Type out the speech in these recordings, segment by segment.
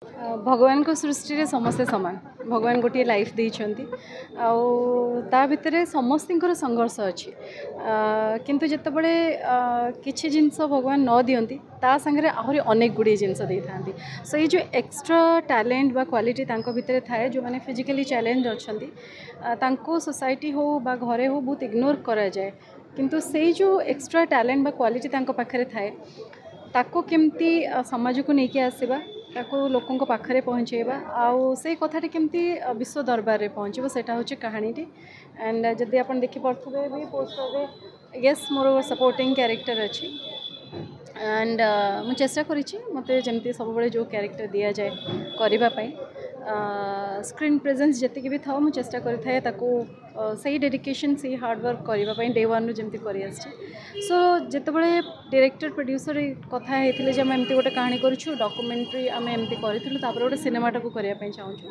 ଭଗବାନଙ୍କ ସୃଷ୍ଟିରେ ସମସ୍ତେ ସମାନ। ଭଗବାନ ଗୋଟିଏ ଲାଇଫ୍ ଦେଇଛନ୍ତି ଆଉ ତା ଭିତରେ ସମସ୍ତଙ୍କର ସଂଘର୍ଷ ଅଛି। କିନ୍ତୁ ଯେତେବେଳେ କିଛି ଜିନିଷ ଭଗବାନ ନ ଦିଅନ୍ତି, ତା ସାଙ୍ଗରେ ଆହୁରି ଅନେକ ଗୁଡ଼ିଏ ଜିନିଷ ଦେଇଥାନ୍ତି। ସୋ ଏଇ ଯେଉଁ ଏକ୍ସଟ୍ରା ଟ୍ୟାଲେଣ୍ଟ ବା କ୍ୱାଲିଟି ତାଙ୍କ ଭିତରେ ଥାଏ, ଯେଉଁମାନେ ଫିଜିକାଲି ଚ୍ୟାଲେଞ୍ଜ ଅଛନ୍ତି, ତାଙ୍କୁ ସୋସାଇଟି ହଉ ବା ଘରେ ହଉ ବହୁତ ଇଗ୍ନୋର କରାଯାଏ। କିନ୍ତୁ ସେଇ ଯେଉଁ ଏକ୍ସଟ୍ରା ଟ୍ୟାଲେଣ୍ଟ ବା କ୍ୱାଲିଟି ତାଙ୍କ ପାଖରେ ଥାଏ, ତାକୁ କେମିତି ସମାଜକୁ ନେଇକି ଆସିବା, ତାକୁ ଲୋକଙ୍କ ପାଖରେ ପହଞ୍ଚାଇବା ଆଉ ସେଇ କଥାଟି କେମିତି ବିଶ୍ୱ ଦରବାରରେ ପହଞ୍ଚିବ, ସେଇଟା ହେଉଛି କାହାଣୀଟି। ଆଣ୍ଡ ଯଦି ଆପଣ ଦେଖିପାରୁଥିବେ ବି ପୋଷ୍ଟରରେ, ୟେସ୍, ମୋର ସପୋର୍ଟିଂ କ୍ୟାରେକ୍ଟର ଅଛି। ଆଣ୍ଡ ମୁଁ ଚେଷ୍ଟା କରିଛି, ମୋତେ ଯେମିତି ସବୁବେଳେ ଯେଉଁ କ୍ୟାରେକ୍ଟର ଦିଆଯାଏ କରିବା ପାଇଁ, ସ୍କ୍ରିନ୍ ପ୍ରେଜେନ୍ସ ଯେତିକି ବି ଥାଉ, ମୁଁ ଚେଷ୍ଟା କରିଥାଏ ତାକୁ ସେଇ ଡେଡିକେସନ୍, ସେଇ ହାର୍ଡ଼ୱାର୍କ କରିବା ପାଇଁ, ଡେ ୱାନ୍ରୁ ଯେମିତି କରିଆସିଛି। ସୋ ଯେତେବେଳେ ଡିରେକ୍ଟର ପ୍ରଡ୍ୟୁସର କଥା ହେଇଥିଲେ ଯେ ଆମେ ଏମିତି ଗୋଟେ କାହାଣୀ କରୁଛୁ, ଡକୁମେଣ୍ଟାରୀ ଆମେ ଏମିତି କରିଥିଲୁ, ତାପରେ ଗୋଟେ ସିନେମାଟାକୁ କରିବା ପାଇଁ ଚାହୁଁଛୁ।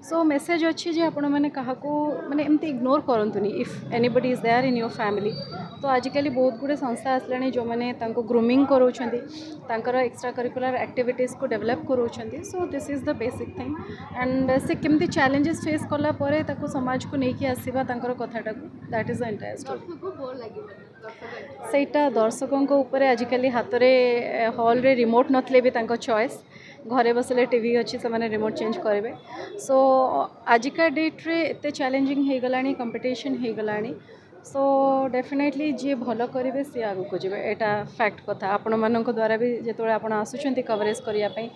ସୋ ମେସେଜ୍ ଅଛି ଯେ ଆପଣମାନେ କାହାକୁ ମାନେ ଏମିତି ଇଗ୍ନୋର କରନ୍ତୁନି। If anybody is there in your family, ତ ଆଜିକାଲି ବହୁତ ଗୁଡ଼ିଏ ସଂସ୍ଥା ଆସିଲାଣି ଯେଉଁମାନେ ତାଙ୍କୁ ଗ୍ରୁମିଂ କରାଉଛନ୍ତି, ତାଙ୍କର ଏକ୍ସଟ୍ରା କରିକୁଲାର ଆକ୍ଟିଭିଟିଜ୍କୁ ଡେଭଲପ୍ କରାଉଛନ୍ତି। So this is the basic thing, and ସେ କେମିତି ଚ୍ୟାଲେଞ୍ଜେସ୍ ଫେସ୍ କଲା ପରେ ତାକୁ ସମାଜକୁ ନେଇକି ଆସିବା ତାଙ୍କର କଥାଟାକୁ, that is the entire story. ସେଇଟା ଦର୍ଶକଙ୍କ ଉପରେ। ଆଜିକାଲି ହାତରେ ହଲ୍ରେ ରିମୋଟ୍ ନଥିଲେ ବି ତାଙ୍କ ଚଏସ୍, ଘରେ ବସିଲେ ଟିଭି ଅଛି, ସେମାନେ ରିମୋଟ୍ ଚେଞ୍ଜ କରିବେ। ସୋ ଆଜିକା ଡେଟ୍ରେ ଏତେ ଚ୍ୟାଲେଞ୍ଜିଂ ହେଇଗଲାଣି, କମ୍ପିଟିସନ୍ ହେଇଗଲାଣି। ସୋ ଡେଫିନେଟଲି ଯିଏ ଭଲ କରିବେ ସିଏ ଆଗକୁ ଯିବେ, ଏଇଟା ଫ୍ୟାକ୍ଟ କଥା। ଆପଣମାନଙ୍କ ଦ୍ୱାରା ବି ଯେତେବେଳେ ଆପଣ ଆସୁଛନ୍ତି କଭରେଜ୍ କରିବା ପାଇଁ,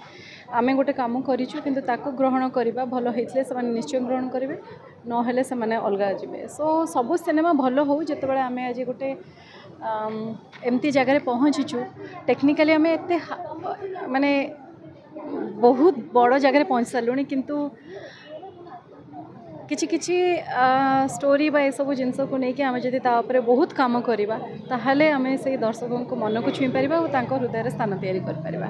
ଆମେ ଗୋଟେ କାମ କରିଛୁ, କିନ୍ତୁ ତାକୁ ଗ୍ରହଣ କରିବା, ଭଲ ହେଇଥିଲେ ସେମାନେ ନିଶ୍ଚୟ ଗ୍ରହଣ କରିବେ, ନହେଲେ ସେମାନେ ଅଲଗା ଯିବେ। ସୋ ସବୁ ସିନେମା ଭଲ ହଉ। ଯେତେବେଳେ ଆମେ ଆଜି ଗୋଟେ ଏମିତି ଜାଗାରେ ପହଞ୍ଚିଛୁ, ଟେକ୍ନିକାଲି ଆମେ ଏତେ ମାନେ ବହୁତ ବଡ଼ ଜାଗାରେ ପହଞ୍ଚି ସାରିଲୁଣି, କିନ୍ତୁ କିଛି କିଛି ଷ୍ଟୋରି ବା ଏସବୁ ଜିନିଷକୁ ନେଇକି ଆମେ ଯଦି ତା ଉପରେ ବହୁତ କାମ କରିବା, ତାହେଲେ ଆମେ ସେଇ ଦର୍ଶକଙ୍କ ମନକୁ ଛୁଇଁ ପାରିବା ଓ ତାଙ୍କ ହୃଦୟରେ ସ୍ଥାନ ତିଆରି କରିପାରିବା।